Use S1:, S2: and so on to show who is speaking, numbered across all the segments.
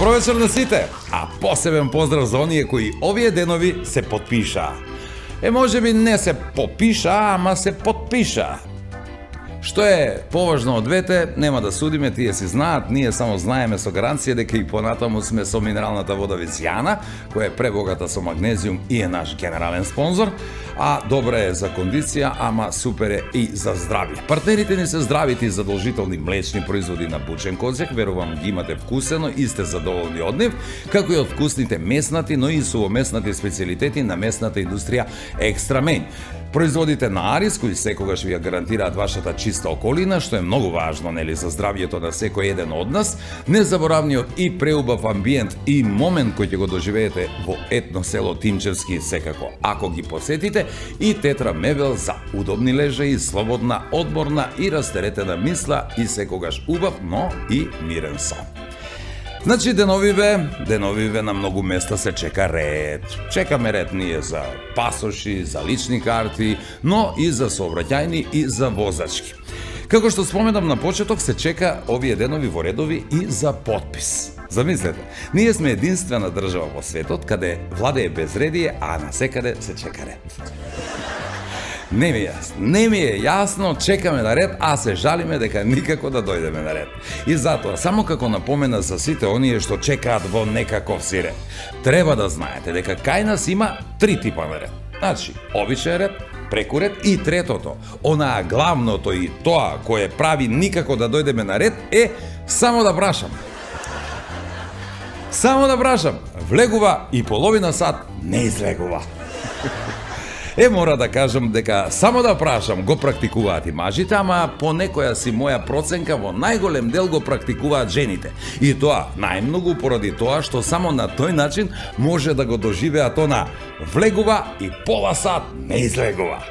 S1: Добро вечер на сите, а посебен поздрав за оние кои овие денови се потпишаа. Можеби не се попишаа, ама се потпишаа. Што е поважно од двете, нема да судиме, тие си знаат, ние само знаеме со гаранција дека и понатаму сме со минералната вода Вицијана, која е пребогата со магнезиум и е наш генерален спонзор, а добра е за кондиција, ама супер е и за здравје. Партнерите ни се здравите и задолжителни млечни производи на Бучен Козјак, верувам ги имате вкусено и сте задоволни од нив, како и од вкусните меснати, но и сувомеснати специјалитети на месната индустрија Екстра Мејн. Производите на Арис, кои секогаш ви ја гарантираат вашата чиста околина, што е многу важно, нели, за здравјето на секој еден од нас, незаборавниот и преубав амбиент и момент кој ќе го доживеете во етно село Тимчевски секако, ако ги посетите, и Тетра мебел за удобни лежаи, слободна, одморна и растеретена мисла и секогаш убав, но и мирен сон. Значи, деновиве на многу места се чека ред. Чекаме ред ние за пасоши, за лични карти, но и за сообраќајни и за возачки. Како што споменам на почеток, се чека овие денови во редови и за потпис. Замислете, ние сме единствена држава во светот каде владее безредие, а насекаде се чека ред. Не ми е јасно, чекаме на ред, а се жалиме дека никако да дојдеме на ред. И затоа, само како напомена за сите оние што чекаат во некаков си ред, треба да знаете дека кај нас има 3 типа на ред. Значи, обичен ред, прекурет и третото, онаа главното и тоа кое прави никако да дојдеме на ред е само да прашам. Само да прашам, влегува и половина сат не излегува. Мора да кажам дека само да прашам го практикуваат и мажите, ама по некоја си моја проценка во најголем дел го практикуваат жените. И тоа најмногу поради тоа што само на тој начин може да го доживеат она влегува и пола сат не излегува.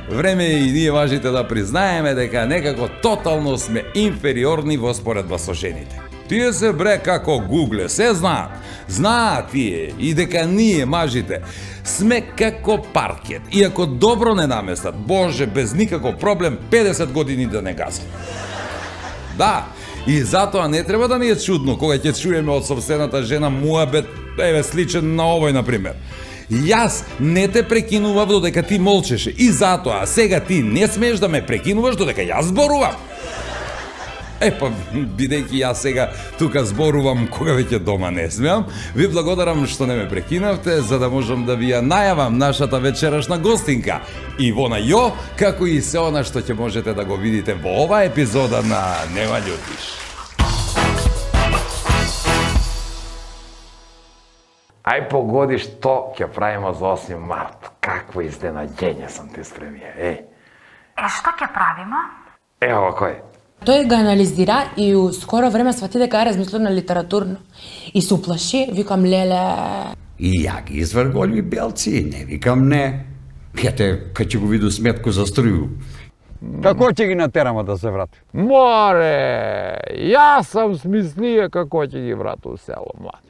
S1: Време и ние мажите да признаеме дека некако тотално сме инфериорни во споредба со жените. Тие се бре како гугле, се знаат. Знаат тие и дека ние, мажите, сме како паркет. И ако добро не наместат, боже, без никаков проблем, 50 години да не газат. Да, и затоа не треба да ни е чудно кога ќе чуеме од собствената жена муабет, сличен на овој, например. Јас не те прекинував додека ти молчеше и затоа сега ти не смееш да ме прекинуваш додека јас зборувам. Бидејќи јас сега тука зборувам кога веќе дома не смеам, ви благодарам што не ме прекинавте, за да можам да ви ја најавам нашата вечерашна гостинка. Ивона Јо, како и се она што ќе можете да го видите во оваа епизода на Нема љутиш. Ај погоди што ќе правиме за 8 март. Какво изненаѓење сам ти спремија,
S2: Што ќе правиме?
S1: Ево кој.
S3: Тој го анализира и у скоро време свати дека е размислено литературно. И се уплаши, викам леле.
S4: И ја ги изврголи белци, не викам не. Јате, кај ќе го виду сметку за струју.
S5: Како ќе ги натераме да се врати?
S6: Море, јас сам смислија како ќе ги врати у село, млад.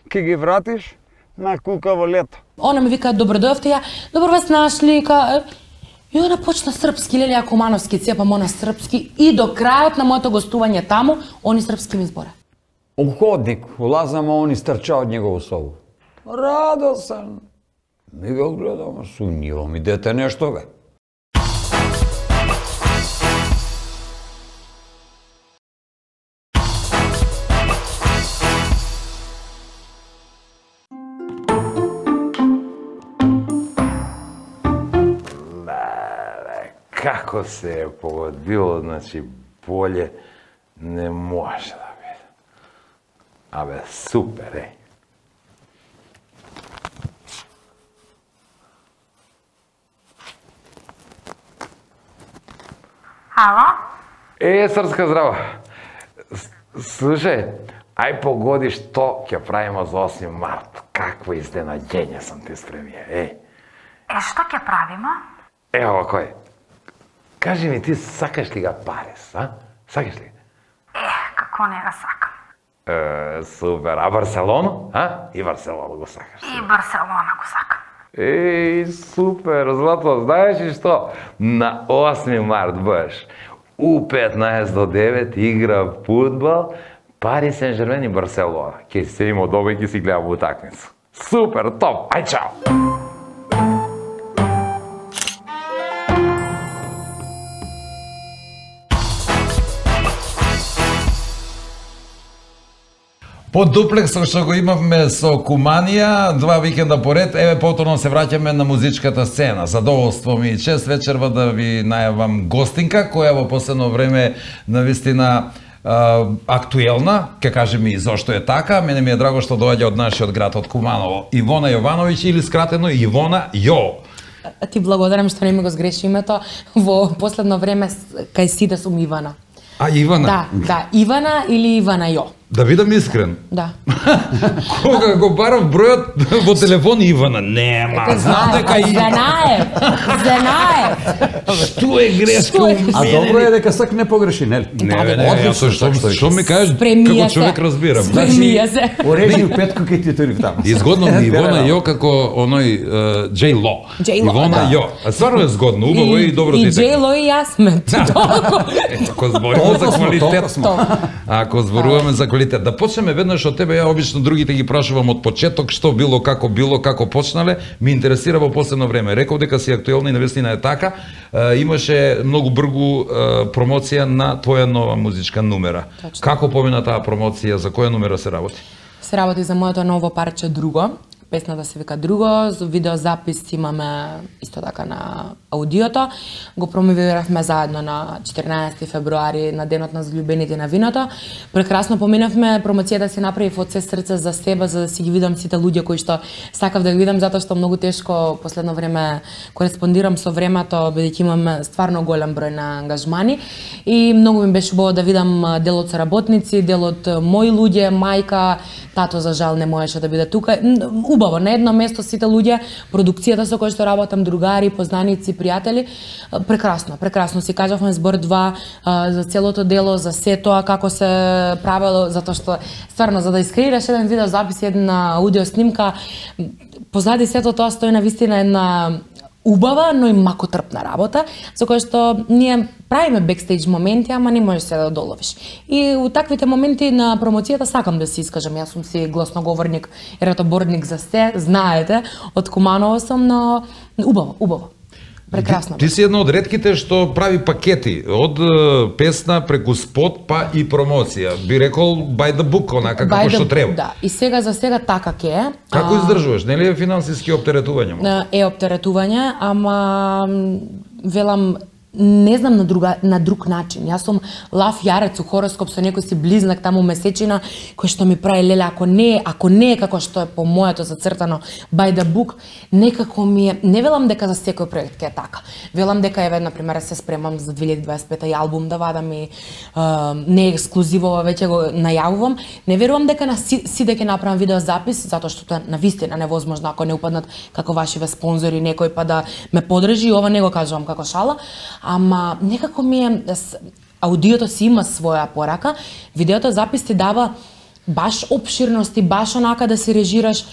S5: Ке ги вратиш на кукаво лето.
S3: Она ми вика, добро дојавте, ја, добро вас нашли, И она почна српски, Лелија Кумановски, цепам она српски и до крајот на моето гостување таму, они српски ми збора.
S5: У ходник улазам, а он истрча од негову собу. Радосан. Ми го гледам, сумњиво ми дете нешто, бе.
S1: Како се е погодило, значи, болje не може да биде. Супер,
S2: Ало?
S1: Срска здрава. Слушај, ај погоди што ќе правиме за 8 март. Какво изненаѓење сам ти спремија,
S2: Што ќе правиме?
S1: Ево кој. Кажи ми, ти сакаш ли га Парис, Сакаш ли?
S2: Како не го сакам.
S1: Супер. А Барселона? И Барселона го сакаш?
S2: И Барселона го сакам.
S1: Супер, злато. Знаеш ли што? На 8 март баш у 15:09 игра фудбал Пари Сен-Жермен и Барселона. Ке се има дома и ќе си гледам утакмица. Супер, топ, ај чао! По дуплексот што го имавме со Куманија, 2 викенда поред, еве повторно се враќаме на музичката сцена. Задоволство ми и чест вечерва да ви најавам гостинка, која во последно време навистина актуелна, ке кажем и зошто е така. Мене ми е драго што доаѓа од нашиот град, од Куманово. Ивона Јовановиќ или скратено Ивона Јо.
S3: Ти благодарам што не ми го сгреши името. Во последно време кај сите сум Ивана.
S1: А Ивана?
S3: Да, Ивана или Ивана Јо.
S1: Да бидам искрен.
S3: Да.
S1: Кога го барав бројот во телефон Ивана, нема. Знам дека
S3: Знаев.
S1: Што е грешка у мене?
S5: А добро е дека сак не погреши, нели?
S1: Не, што ми кажеш како човек разбирам.
S3: Спремија се.
S5: Орежи у петку ке ти тој таму.
S1: Изгодно ми Ивона Јо како оној Джей Ло. Ивона Јо. А стварно е згодно, убаво и добро ти така.
S3: И Джей Ло и јас сме.
S1: Ако збориме за квалитет, ако зборуваме за квалитет, да почнеме веднаш од тебе. Ја обично другите ги прашувам од почеток што било, како почнале. Ми интересира во последно време. Реков дека си актуелна и навистина е така. Имаше многу бргу промоција на твоја нова музичка нумера.
S3: Точно.
S1: Како помина таа промоција, за која нумера се работи?
S3: Се работи за моето ново парче Друго. Песната се вика Друго, видеозапис имаме исто така на аудиото. Го промовиравме заедно на 14 февруари на денот на злюбените на виното. Прекрасно поминавме, промоцијата си направив од се срце за себе, за да си ги видам сите луѓе кои што сакав да ги видам, затоа што многу тешко последно време кореспондирам со времето, бидејќи имам стварно голем број на ангажмани и многу ми беше убаво да видам дел од соработници, дел од мои луѓе, мајка, тато за жал не можеше да биде тука. Убаво, на едно место сите луѓе, продукцијата со која што работам, другари, познаници, пријатели, прекрасно си кажавме збор 2 за целото дело, за се тоа како се правело, затоа што стварно за да искреираш еден видеозапис, една аудио снимка, позади сето тоа стои навистина една убава, но и макотрпна работа, за која што ние правиме бекстејдж моменти, ама не можеш се да доловиш. И у таквите моменти на промоцијата сакам да се искажам. Јас сум си гласноговорник и ратоборник за се, знаете, од Куманово сум, но убаво. Прекрасно.
S1: Ти си една од ретките што прави пакети, од песна преку спот па и промоција. Би рекол by the book, онака како што треба.
S3: Да, и сега за сега така ке е.
S1: Како издржуваш? Нели е финансиски оптеретување?
S3: Е оптеретување, ама велам не знам на друг начин. Јас сум лав јарец у хороскоп со некој си близнак таму месечина кој што ми прави леле, ако не е како што е по моето зацртано by the book, некако ми е, не велам дека за секој проект ќе е така. Велам дека еве на пример се спремам за 2025 и албум да вадам и не е ексклузивово, веќе го најавувам. Не верувам дека на сите ќе направам видеозапис, затоа што тоа е навистина невозможно ако не упаднат како вашиве спонзори некој па да ме подржи, ова не го кажувам како шала. Ама некако ми е, аудиото си има своја порака, видеото запис ти дава баш обширност и баш онака да си режираш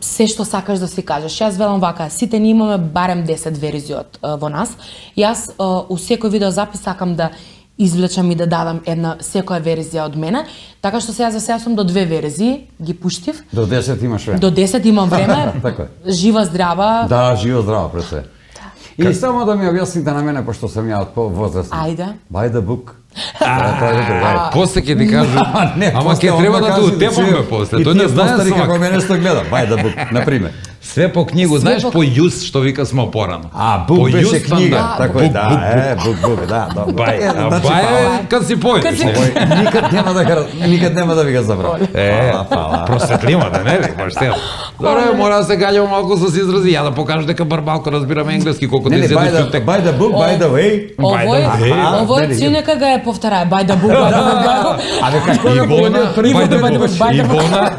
S3: се што сакаш да си кажеш. Јас велам вака, сите ни имаме барем 10 верзии во нас. Јас у секој видеозапис сакам да извлечам и да дадам една секоја верзија од мене, така што сега за сега сум до 2 верзии, ги пуштив.
S5: До 10 имаш време.
S3: До 10 имам време.
S5: Така е.
S3: Жива здрава.
S5: Да, жива здрава пред се. И само да ми објасните на мене, пошто сум ја од повозрастен.
S3: Ајде.
S5: By the book.
S1: После ќе ти кажу, ама ќе треба да те утепаме после. Тој не знае
S5: свак.
S1: свак.
S5: Како мене што гледа, by the book, на пример.
S1: Све по книгу, знаеш по јус што вика смо порано.
S5: Бук беше книга, тако е, да, бук, да, добро.
S1: Бај, кад си поедеш.
S5: Никад нема да ви го забравам.
S1: Просветлива да не ли, поштено. Добре, мора да се гаѓам малку со изрази, ја да покажам дека барбалко разбирам енглески, колку ти седи чутек.
S5: By the book, by the way.
S3: Овој си нека ga ја повтарае, by the book, by the book.
S5: Абе како да
S1: Ивона,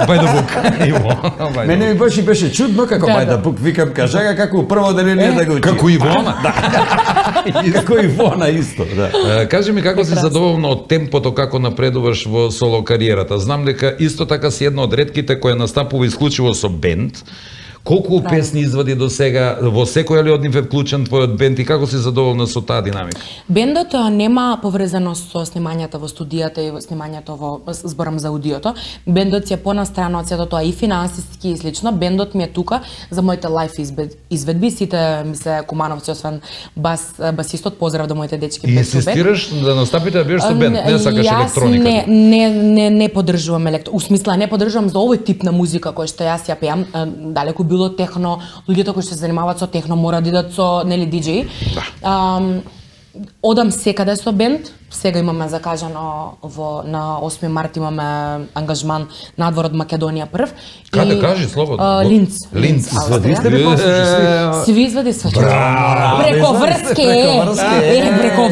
S1: by the book.
S5: Мене ми беше чудно како by the book, викам кажа како прво деление да го учи.
S1: Како Ивона.
S5: Како Ивона исто, да.
S1: Кажи ми како си задоволна од темпото како напредуваш во соло кариерата. Знам дека исто така си една од ретките која настапува исклучиво со бенд, Колку песни извади до сега, во секој ли од нив е вклучен твојот бенд и како си задоволна со таа динамика?
S3: Бендот нема поврзаност со снимањата во студијата и снимањето во зборам за аудиото. Бендот си е понастрана од сето тоа и финансиски и слично. Бендот ми е тука за моите лайф изведби. Сите ми се кумановци, освен басистот, поздрав до моите дечки.
S1: И инсистираш да настапите да бидеш со бенд, не сакаш електроника?
S3: Не поддржувам у смисла не поддржувам за овој тип на музика кој што јас ја пеам, далеку било техно, луѓето кои што се занимаваат со техно мора да идат со нели диџеи. Одам секаде со бенд. Сега имаме закажано на 8 март имаме ангажман надвор од Македонија прв.
S1: Каде кажи слободно?
S3: Линц.
S4: Извадивте ли после?
S3: Сви извади све. Преко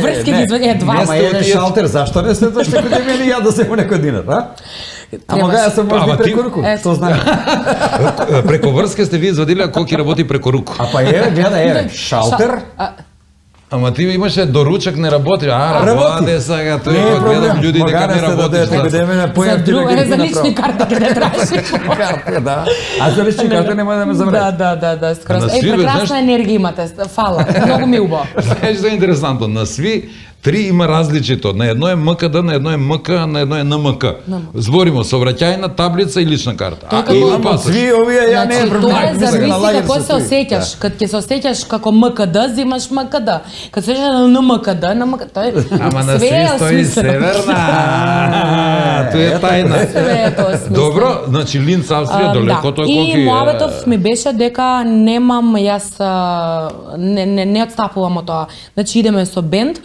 S3: врски ги извади два.
S4: Ама еден шалтер, зашто не следваш некој да мене ја да се му некој динар, а? Ама га сум може преко руку. Што знае?
S1: Преко врски сте ви извадиле, а кој работи преко руку?
S4: А па гледа, шалтер.
S1: Ама ти имаше доручак не работи, работи сега, тој гледам луѓе дека не работи.
S3: За друго, за лични карти не траži.
S4: Карти, да. А за лични карти нема да ме забравиш.
S3: Да, скроз. Прекрасна енергија имате, фала, многу ми убаво.
S1: Знаеш што е интересантно, на сви три има различито. На едно е МКД, на едно е МК, на едно е НМК. Зборимо сообраќајна таблица и лична карта.
S4: Сви овие ја не е проблем.
S3: Тоа зависи како се осеќаш. Кад ќе се осеќаш како МКД, земаш МКД. Кад се осеќаш на МКД,
S1: ама на сви стои северна. Тоа е тајна. Добро, значи Линц, Австрија, далеко тоа колку
S3: е. И мојавето ми беше дека немам јас не отстапувам од тоа. Значи идеме со бенд.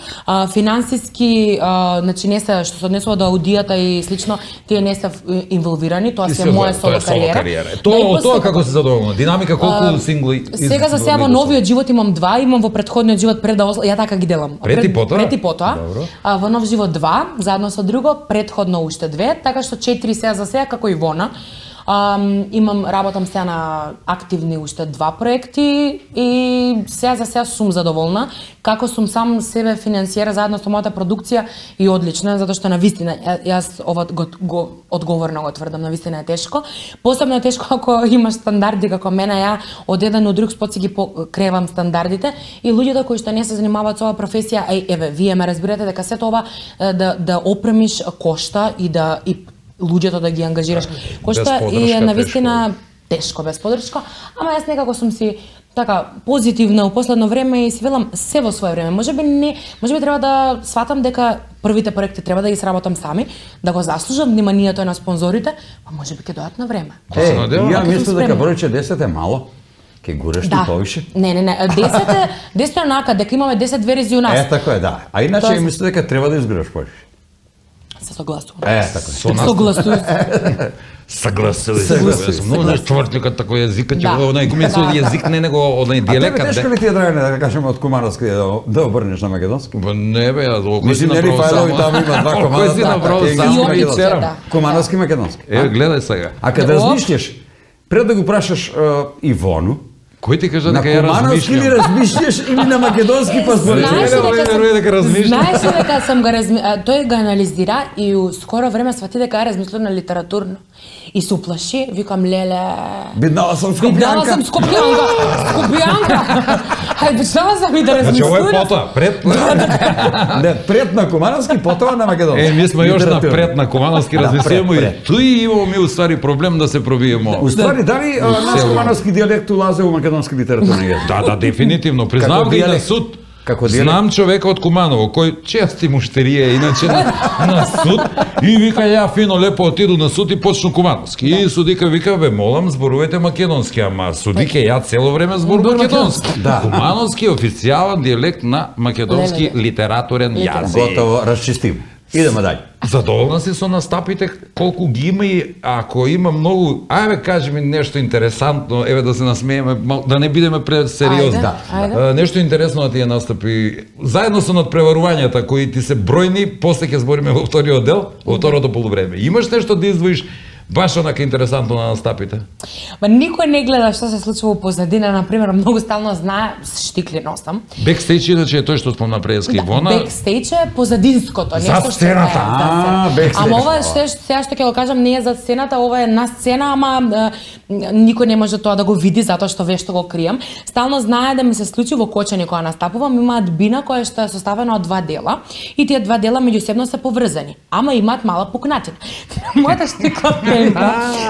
S3: Финансиски, значи не се што се однесува до аудијата и слично, тие не се инволвирани, тоа се моја соло кариера.
S1: Тоа како се задоволна? Динамика колку сингли?
S3: Сега за сега во новиот живот имам два, имам во претходниот живот пред да ја така ги делам.
S1: Пред и потоа.
S3: Во нов живот 2, заедно со друго, претходно уште 2, така што 4 сега за сега како и Вона. Работам сега на активни уште 2 проекти и сега за сега сум задоволна. Како сум сам себе финансиера заедно со мојата продукција и одлично, затоа што навистина јас ова го одговорно го тврдам, навистина е тешко. Посебно е тешко ако имаш стандарди како мене, ја од еден од друг спот си ги кревам стандардите и луѓето кои што не се занимаваат со оваа професија, еве, вие ме разбирате дека сето ова да опремиш кошта и луѓето да ги ангажираш. Кошта и е навистина тешко без поддршка, ама јас некако сум си така позитивна у последно време и си велам се во свое време. Можеби треба да сватам дека првите проекти треба да ги сработам сами, да го заслужам вниманието на спонзорите, па можеби ќе дојдат на време.
S4: Ја мислам дека бројче 10 е мало. Ке гуреш ти повише?
S3: Не. 10 е онака, дека имаме 10 верзии у нас.
S4: Така е, да. А иначе мислам дека треба да изгуреш повише.
S3: Се согласувам.
S4: Така.
S1: Согласувам. Многу нешто твртликат тако јазикот, онај комисо јазик не него онај дијалектот.
S4: А тебе тешко ли ти е Драгане да кажеме од кумановски да обрнеш на македонски?
S1: Не бе, јас окој си
S4: направо само. Мислим, таму има 2 комада.
S1: Окој си направо само.
S4: Кумановски македонски.
S1: Еве, гледај сега.
S4: А кога размислиш, пред да го прашаш Ивону,
S1: кој ти кажа дека ја размислам?
S4: На кумановски ли размислиш или на македонски па збориш?
S3: Знаеш дека сам го тој го анализира и у скоро време свати дека ја размислува на литературно. И се уплаши, викам леле.
S4: Биднала сам Скопјанка.
S3: Хајде, почнава сам и да размислувам.
S1: Значи, ово е потоа, пред.
S4: Не, пред на кумановски, потоа на македонски.
S1: Ми сме још на пред на кумановски размислуваме и туи имamo ми уствари проблем да се пробиемо.
S4: Уствари, дали наш кумановски дијалект улазе у македонски литературни јазик?
S1: Да, дефинитивно. Признавам ги на суд. Знам човека од Куманово, кој чести муштерија иначе на суд и вика ја фино лепо отиду на суд и почну кумановски. И судика вика, бе, молам, зборувате македонски, ама судике ја цело време зборувам македонски. Кумановски е официјален дијалект на македонски литературен јазик.
S4: Готово, расчистим. Идеме дај.
S1: Задоволна си со настапите, колку ги има и ако има многу, ајде кажи ми нешто интересантно, еве да се насмееме, да не бидеме пресериозни. Нешто интересно на тие настапи, заедно со надпреварувањата кои ти се бројни, после ќе збориме во вториот дел, во второто полувреме. Имаш нешто да издвоиш Баш онака интересантно на настапите.
S3: Ма никој не гледа што се случува позадина, на пример, многу стално знае, штикли носам.
S1: Бекстејдж иначе е тој што спомна преска Ивона.
S3: Бекстејдж е позадинското,
S1: нешто што е.
S3: Ама ова сега што ќе го кажам не е за сцената, ова е на сцена, ама никој не може тоа да го види затоа што вешто го кријам. Стално знае да ми се случи во Кочани кога настапувам, имаат бина која што е составена од 2 дела и тие 2 дела меѓусебно се поврзани, ама имаат мала пукнатина. Мојата штикла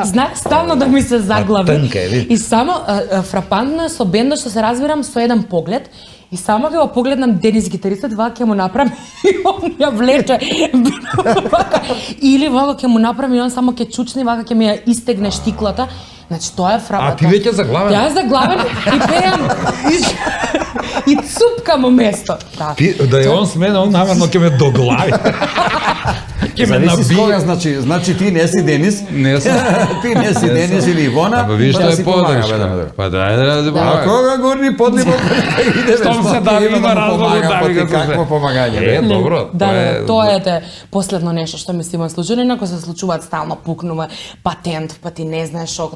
S3: знаеш, стално да ми се заглави. И само фрапантно со бендот што се разбирам со еден поглед и само ќе го погледнам Денис гитаристот, вака ќе му направи и он ја влече или вака ќе му направи и он само ќе чучни, вака ќе ми ја истегне штиклата. Значи тоа е фрапантно.
S1: А ти веќе заглавен?
S3: Ја заглавен и пеам и цупкам у место.
S1: Да е он смене, он намерно ќе ме доглави.
S4: Зависи кога, значи ти не си Денис.
S1: Не сум.
S4: Ти не си Денис или Ивона.
S1: Ама виж што е подршка. Па да
S4: А кога горни подливо иде
S1: Штом се дави има разлог да ви
S4: какво помагање.
S1: Добро.
S3: Да, тоа е последно нешто што ми се има случај, инаку се случуваат стално пукнува патент, па ти не знаеш што.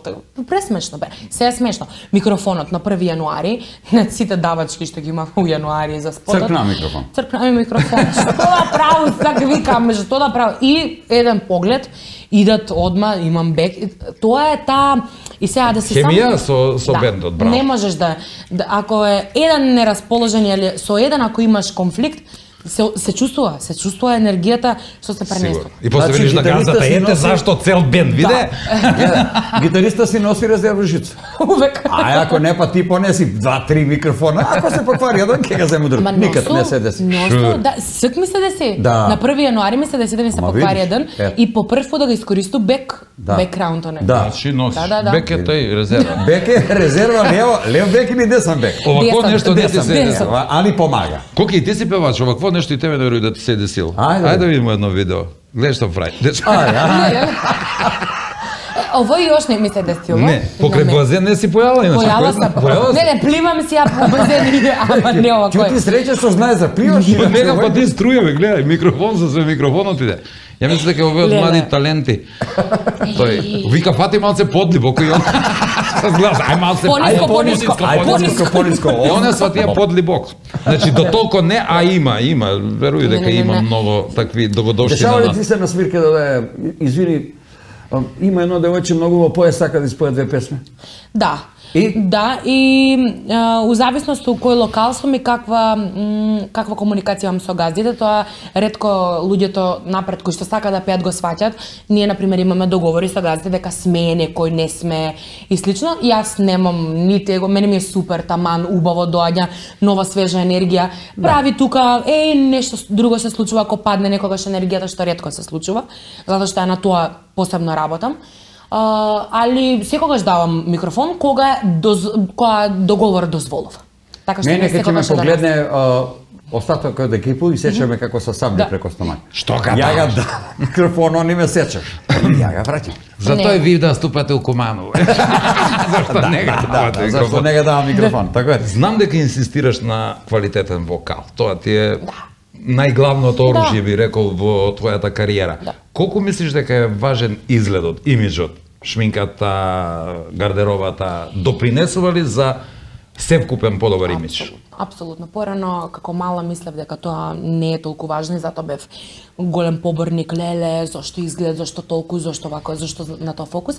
S3: Пресмешно бе. Се е смешно. Микрофонот на 1 јануари, на сите давачки што ги имав у јануари за спотот.
S4: Цркна микрофон.
S3: Цркна микрофон. Што да правам, така викам, што да правам. И еден поглед, идат одма, имам бек. Тоа е таа и сега да си
S1: хемија со бендот, браво.
S3: Не можеш да ако е еден нерасположен или со еден ако имаш конфликт, се чувствува енергијата што се пренесува.
S1: И после видиш на газата, ете зашто цел бенд виде.
S4: Гитариста си носи резервна жица.
S3: Увек.
S4: А ако не, па ти понеси 2-3 микрофона, ако се поквари еден, ќе го зему друг. Никад не се деси.
S3: Да, сик ми се деси. На 1 јануари ми се деси да ми се поквари еден и по прв пат да го искористу бекграундот.
S1: Значи носиш. Бек е тој резерва.
S4: Бек е резерва, лев бек или десен бек.
S1: Овако нешто не ти се деси.
S4: Али помага.
S1: Коки и ти си певач, овако нешто и тебе веруј да ти се десил. Ајде да видиме едно видео. Гледај што прави.
S3: Ово још не ми се десило.
S1: Не, покрај базен не си појала иначе.
S3: Појала. Не, пливам си ја по базен, ама не ова кој.
S4: Ти среќа што знае за пливаш.
S1: Нега па ти струјаме, гледај, микрофон со све микрофонот иде. Ја мислам дека овие од млади таленти. Тој вика фати малце подлибоко и он гледа, ај малце
S3: пониско.
S1: И он е сватија подлибок. Значи до толку не, а има, веруј дека има многу такви догодошли.
S4: Дешава ли ти се на свирка да извини, има едно девојче многу во појас сака да испое 2 песми?
S3: Да. Да, и у зависност у кој локал сум и каква комуникација имам со газдите, тоа ретко луѓето напред кои што сака да пеат го сваќат. Ние на пример имаме договори со газдите дека сме некој, не сме и слично. И јас немам нити его, мене ми е супер, таман, убаво доаѓа нова свежа енергија. Прави тука нешто друго се случува ако падне некогаш енергијата, што ретко се случува, затоа што на тоа посебно работам. Али секогаш давам микрофон кога договор дозволува. Така што
S4: не секогаш ќе ме погледне остатокот од екипу и сечаме како со сабља преко стомак.
S1: Што га
S4: ја га да микрофон, он не сечаш. Ја га враќам.
S1: Затоа и ви да ступате у Куманово. Зашто не га давате микрофон?
S4: Зашто не га давам микрофон, така е.
S1: Знам дека инсистираш на квалитетен вокал. Тоа ти е најглавното оружје, би рекол, во твојата кариера. Колку мислиш дека е важен изгледот, имиджот, шминката, гардеробата, допринесува ли за севкупен подобар имидж?
S3: Апсолутно. Порано, како мала, мислев дека тоа не е толку важно и затоа бев голем поборник, леле, зашто изглед, зашто толку, зашто вако, зашто на тоа фокус.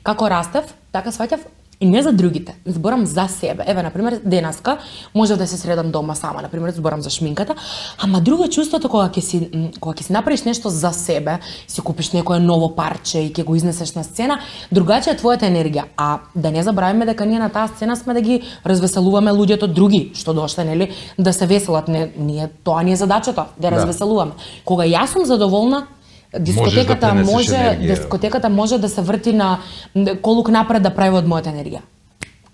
S3: Како растев, така сваќав, и не за другите, зборам за себе. Еве, например, денеска може да се средам дома сама, например, зборам за шминката, ама друго е чувството кога ќе си направиш нешто за себе, си купиш некое ново парче и ќе го изнесеш на сцена, другаче е твојата енергија. А да не забравиме дека ние на таа сцена сме да ги развеселуваме луѓето други што дошле, нели, да се веселат. Тоа ни е задачата, да развеселуваме. Кога јас сум задоволна, дискотеката може да се врти на колук напред да прави од мојата енергија.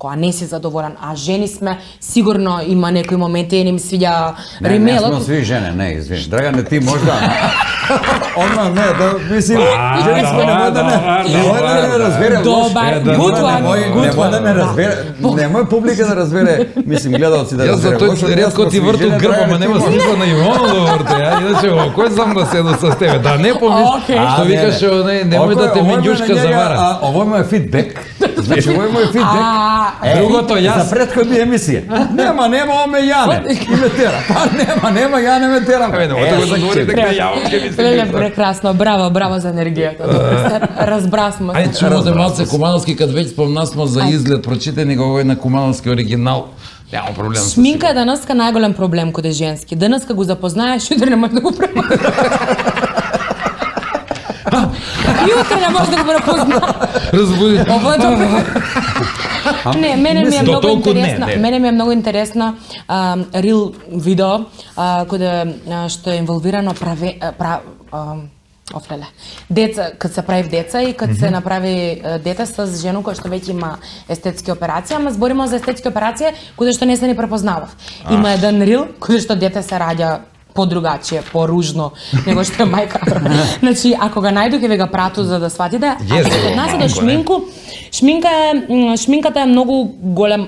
S3: кога не си задоволен, а жени сме, сигурно има некои моменти, не ми свиѓа римелот.
S5: Не сме сви жени, не, извини. Драгане, ти можда. Одма, не, да, мислим, жени сме, немој да не разбере.
S3: Добар,
S5: Немој да не разбере, немој публика да разбере, мислим, гледалци да разбере.
S1: Јас за тој ретко ти врту грба, ма нема смисла на Ивано да врте, иначе, кој знам да седу со тебе, да не помислиш, што викаш, немој да те минјушка завара.
S5: Овој мој фидбек, значи овој мој фидбек,
S1: другото јас.
S5: За претходни емисија. Нема, оме Јане, и ме тера. Па нема, Јане ме тера.
S1: Немојте го заговори дека јавам ке мислим.
S3: Леле, прекрасно, браво за енергијата. Разбрасмо.
S1: Ајде, чувате малце Кумановски, кад веќе спомнасмо за изглед, прочитани го овој на Кумановски оригинал. Нема проблем.
S3: Шминка е денеска најголем проблем кога е женски. Денеска го запознаеш, утре не можеш да го препознаеш. Јутре не можеш да го препознаеш.
S1: Разбуди.
S3: Ова е добро. Не, мене ми е многу интересно рил видео каде што е инволвирано деца, кад се прави деца и кад се направи дете с жена која што веќе има естетски операции, ама збориме за естетски операции каде што не се ни препознавав. Има еден рил каде што дете се раѓа по-другачие, по-ружно него што е мајка. Значи, ако го најдоке ве го прату за да сватите, а кога нас до шминку, шминката е многу голем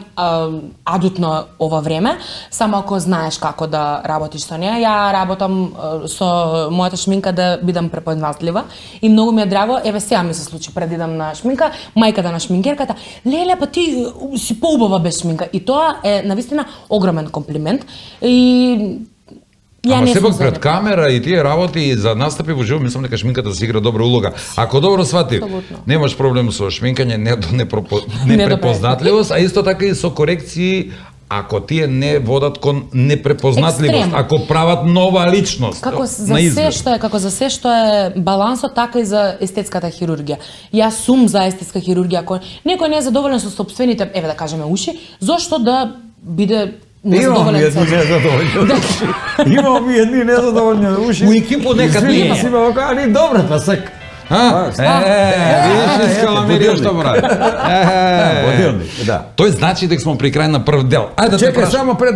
S3: адут на ова време, само ако знаеш како да работиш со неа. Ја работам со мојата шминка да бидам препознатлива и многу ми е драго. Еве сега ми се случи пред идам на шминка, мајката на шминкерката, леле, па ти си поубава без шминка. И тоа е навистина огромен комплимент. И
S1: ама сепак пред камера и тие работи и за настапи во живо, мислам дека шминката се игра добра улога. Ако добро свати, немаш проблем со шминкање, непрепознатливост, а исто така и со корекции ако тие не водат кон непрепознатливост, ако прават нова личност.
S3: Како за се што е балансот, така и за естетската хирургија. Јас сум за естетска хирургија, ако некој не е задоволен со сопствените, еве да кажеме уши, зошто да биде
S5: Имам едни незадоволни уши.
S1: У екипу некад не е.
S5: Си ме али добре, па сак.
S1: Видиш искаламерија што прави. Тој значи дека смо при крај на прв дел. Ајде да
S5: чекај само пред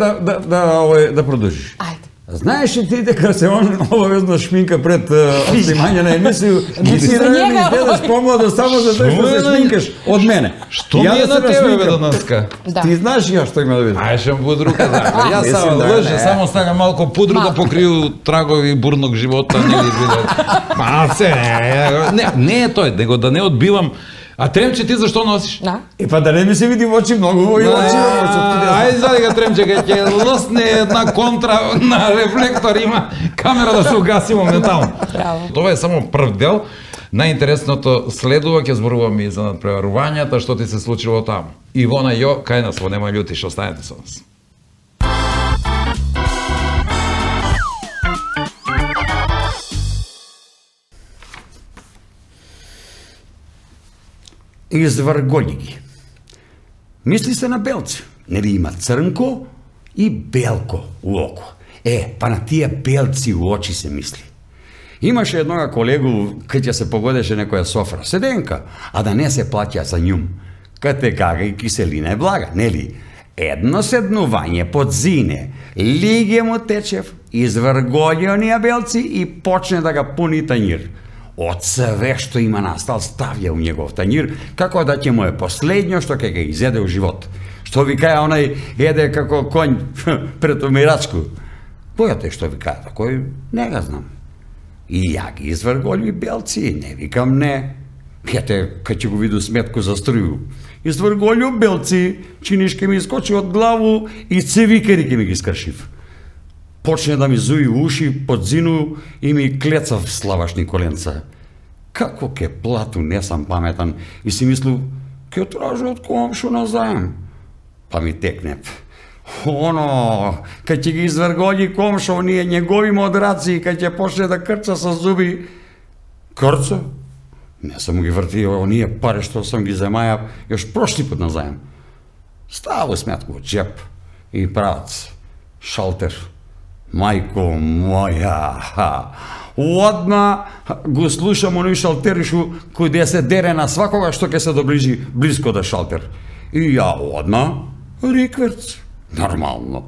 S5: да продолжиш.
S3: Ајде.
S5: Знаеш ли ти дека се обавезно шминка пред снимање на емисија? Ти си изгледаш помладо само за тоа што се шминкаш од мене.
S1: Што ми е на тебе бе денеска?
S5: Ти знаеш ја што има да видиш?
S1: Ај шем пудрука за. Јас само лъже, само ставам малку пудру да покрију трагови бурног живота, нели видат. Малце, не е тој, него да не одбивам. А тремче ти зашто носиш?
S5: Па да не ми се види во очи многу во очи.
S1: Ајде задека тремче ќе лосне една контра на рефлектор, има камера да се угаси моментално. Тоа е само прв дел. Најинтересното следува, ќе зборуваме и за надпреварувањата, што ти се случило таму. Ивона Јо, кај нас во Нема љутиш, останете со нас.
S5: Изврголи ги. Мисли се на белци. Нели има црнко и белко у око. Па на тие белци у очи се мисли. Имаше еднога колегу, кај ќе се погодеше некоја софра, седенка, а да не се плаќа за њум. Кате гага и киселина е блага, нели? Едно седнување под зине, лиге му течев, изврголи онија белци и почне да га пуни тањир. Од све што има настал ставја у негов тањир, како да ќе му е последњо што ќе га изеде у живот. Што ви каја онај еде како конј пред умирачку. Бојате што ви каја такој, не га знам. И ја ги изврголи белци, не викам не. Ете, кај ќе го виду сметку за струју. Изврголи белци, чиниш ке ми искочи од главу и цевикери ке ми ги скршив. Почне да ми зуи уши под зину и ми клецав славашни коленца. Како ке плату, не сам паметан, и си мислу, ке тражу од комшу на заем. Па ми текне. Кај ќе ги изврголи комшо, оние негови модраци, кај ќе почне да крца со зуби. Крца? Не сам ги вртио, оние пари што сам ги земајав, још прошли пат на заем. Ставу сметку од джеп и правац, шалтер. Мајко моја, одма го слушам оној шалтеришу кој да се дере на свакога што ќе се доближи близко до шалтер. И ја одма рикверц. Нормално.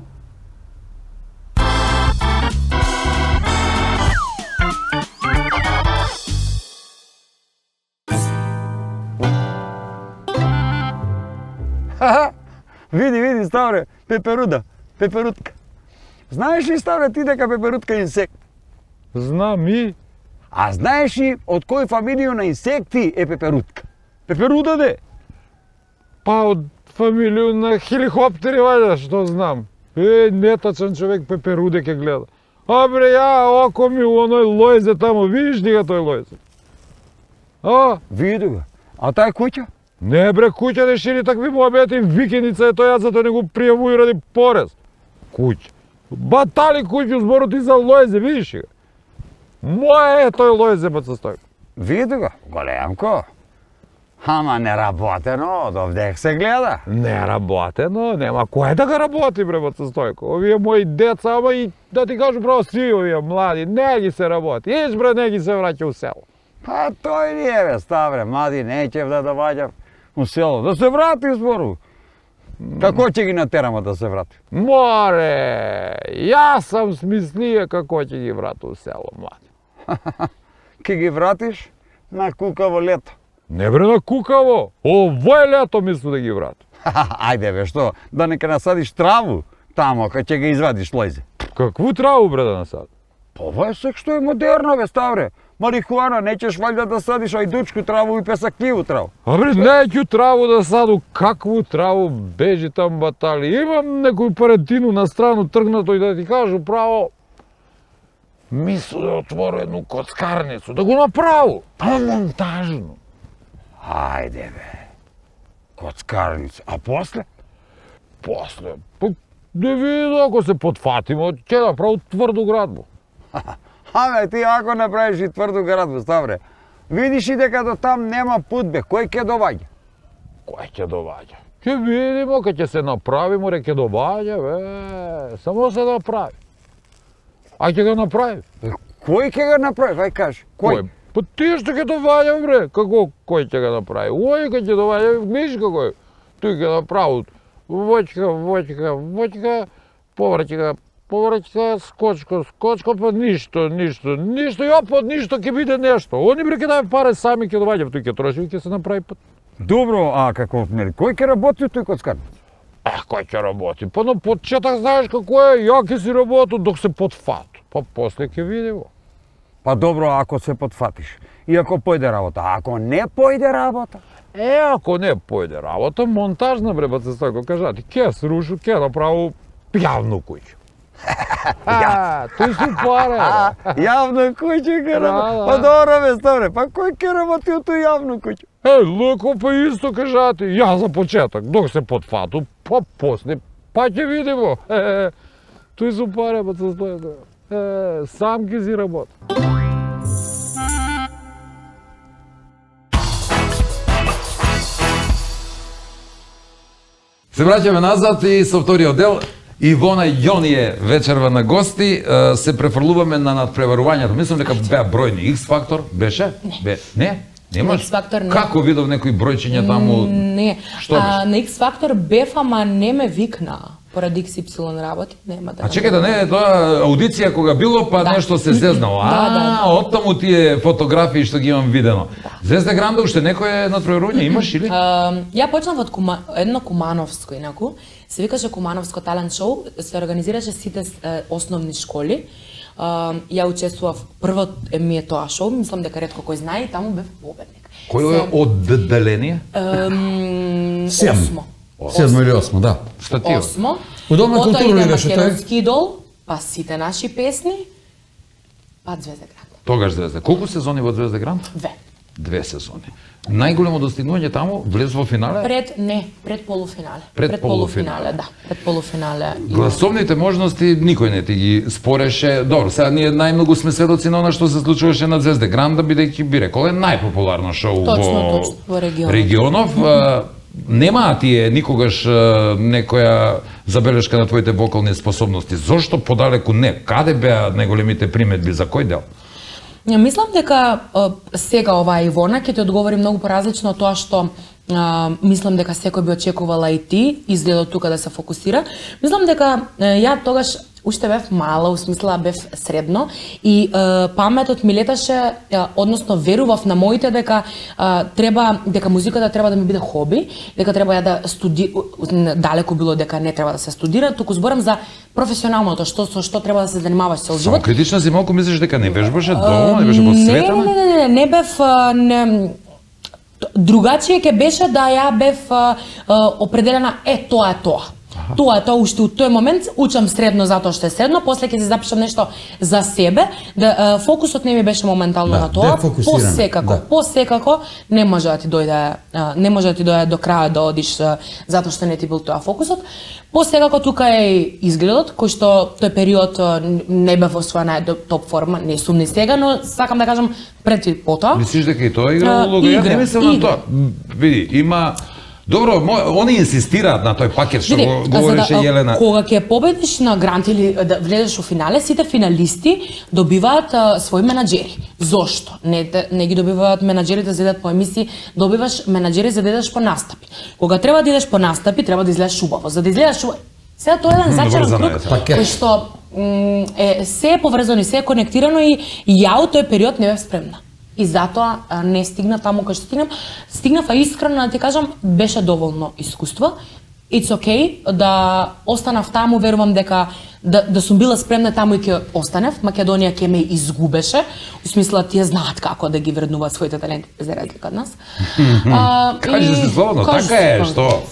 S7: Види, Ставре, пеперуда, пеперутка. Знаеш ли, Ставре, ти дека пеперутка е инсект?
S6: Знам и...
S7: А знаеш ли од кој фамилија на инсекти е пеперутка?
S6: Пеперуда де? Па од фамилија на хеликоптери, вајде, што знам. Нетачен човек пеперуде ке гледа. А бре, ја, око ми у оној лојзе тамо, видиш ли га тој лојзе? А?
S7: Види го. А тај куќа?
S6: Не бре, куќа не шири такви муабети, викеница е тој, јас затоа не го пријавуј ради порез. Куќа. Батали куќу збору ти за лојзе, видиш ли га? Мој е тој лојзе, баца Стојко.
S7: Види го, големко. Ама неработено, од овдек се гледа.
S6: Неработено, нема кој да ga работи, бре, баца Стојко. Овие мои деца, ама и да ти кажу право, сви овие млади, не ги се работи. Иш, бре, не ги се враќа у село.
S7: Па тој не е, бе, Ставре, млади, неќев да доаѓам у село. Да се врати, збору. Како ќе ги натерамо да се врати?
S6: Море, јас сам смислија како ќе ги врати у село, млади.
S7: Ке ги вратиш на кукаво лето.
S6: Не бре на кукаво, овој лето мислу да ги врати.
S7: Ајде бе, што, да не ке насадиш траву тамо, кај ќе ги извадиш лојзе.
S6: Какву траву бре да насади?
S7: Па ова е сек што е модерно, бе, Ставре. Марихуана, неќеш ваljda да садиш ајдучку траву и песакливу траву.
S6: А бре, неќу траву да саду, какву траву, бежи там батали. Имам некој паретину на страну тргнато и да ти кажу право, мислу да отвору едну коцкарницу, да го направу, па монтажно.
S7: Ајде бе, коцкарница, а после?
S6: После, па да види ако се потфатимо, ќе направу тврду градбу.
S7: Абе, ти ако направиш и тврду градбу, Ставре, видиш и дека до там нема пут, бе, кој ќе доваѓа?
S6: Кој ќе доваѓа? Ќе видимо, кога ќе се направи, море ќе доваѓа, бе, само се направи. А ќе го направи?
S7: Кој ќе го направи, вај кажи, кој?
S6: Па ти што ќе доваѓа, бре, како кој ќе го направи? Ој кога ќе доваѓа, видиш како е, тој ќе направи воќка, повраќка, скочка, па ништо, и опот ништо ќе биде нешто. Они бре ќе даде пари сами ќе доваѓа, тој ќе троши и ќе се направи пат.
S7: Добро, а како нели, кој ќе работи тој коцкарница?
S6: Кој ќе работи? Па на почеток знаеш како е, ја ќе си работу док се потфат. Па после ќе видимо.
S7: Па добро, ако се потфатиш и ако појде работа, а ако не појде работа?
S6: Ако не појде работа, монтажна бре, баца Стојко, кажа ти, ќе срушу, ќе направу јавну куќу. Тој си паре, бе.
S7: Јавна куќа ќе работи? Па добро, бе, Ставре, па кој ќе работи у тој јавну куќу?
S6: Луко, па исто кажа ти, ја за почеток, док се потфату, па после, па ќе видимо. Тој си паре, баца Стојко. Сам ќе си работи.
S1: Се враќаме назад и со вториот дел. Ивона Јонија вечерва на гости, се префрлуваме на надпреварувањето. Мислам дека беа бројни. X-фактор беше? Не? Немаш?
S3: X-фактор не.
S1: Како видов некои бројчиња таму?
S3: Не.
S1: Што беше?
S3: На X-фактор бев, ама не ме викна. Поради XY работи, нема да.
S1: А чекај, да не е тоа аудиција кога било, па нешто се зезнало.
S3: Да.
S1: Оттаму тие фотографии што ги имам видено. Звезда Гранда уште некој надпреварување имаш или?
S3: Ја почнав од едно кумановско, инаку. Се викаше Кумановско талент шоу, се организираше сите основни школи. Ја учествував, прво ми е тоа шоу, мислам дека ретко кој знае, и таму бев победник.
S1: Кој е одделение?
S3: Осмо.
S4: 7 или 8, да.
S1: Штатио.
S3: Осмо.
S4: Удобна култура ли беше тој?
S3: Македонски идол, па сите наши песни, па Звезда Гранда.
S1: Тогаш Звезда. Колку сезони во Звезда Гранда? 2 сезони. Најголемо достигнување таму влез во финале?
S3: Пред полуфинале.
S1: Пред полуфинале,
S3: да. Пред полуфинале.
S1: Гласовните можности никој не ти ги спореше. Добро, сега ние најмногу сме сведоци на она што се случуваше на Звезда Гранда, бидејќи би рекол е најпопуларно шоу
S3: во
S1: регионов. Немаа тие никогаш некоја забелешка на твоите вокални способности. Зошто подалеку не? Каде беа најголемите приметби, за кој дел?
S3: Мислам дека сега оваа Ивона ќе ти одговори многу поразлично од тоа што мислам дека секој би очекувала и ти, изгледот тука да се фокусира. Мислам дека ја тогаш уште бев мала, усмисла бев средно и паметот ми леташе, односно верував на моите дека дека музиката треба да ми биде хоби, дека треба ја да далеку било дека не треба да се студира, туку зборам за професионалното, што треба да се занимаваш цел живот.
S1: Само критична си малку мислиш дека не вежбаше дома, не беше посветена?
S3: Не бев другачие ќе беше да ја бев определена тоа е тоа. Тоа е тоа, уште од тој момент учам средно затоа што е средно, после ќе се запишам нешто за себе, да фокусот не ми беше моментално на тоа. Посекако не може да ти дојде до крај да одиш затоа што не ти бил тоа фокусот. Посекако тука е изгледот, кој што тој период не бев во своја топ форма, не сум ни сега, но сакам да кажам пред и потоа.
S1: Мислиш дека и тоа игра улога? Ја не мислам на тоа. Види, има добро, они инсистираат на тој пакет што го говореше Јелена.
S3: Кога ќе победиш на грант или да влезеш во финале, сите финалисти добиваат своји менаџери. Зошто? Не ги добиваат менаџерите за да идат по емисии, добиваш менаџери за да идеш по настапи. Кога треба да идеш по настапи, треба да изгледаш убаво. За да изгледаш убаво, сега тоа е еден зачаран круг кој што се е поврзано и се е конектирано и ја од тој период не бев спремна. И затоа не стигна таму кај што стигнав, а искрено да ти кажам, беше доволно искуство. It's okay да останав таму, верувам дека да сум била спремна таму и ќе останев. Македонија ќе ме изгубеше, у смисла тие знаат како да ги вреднуваат своите таленти за разлика од нас.
S1: Кажи се слободно, така е, што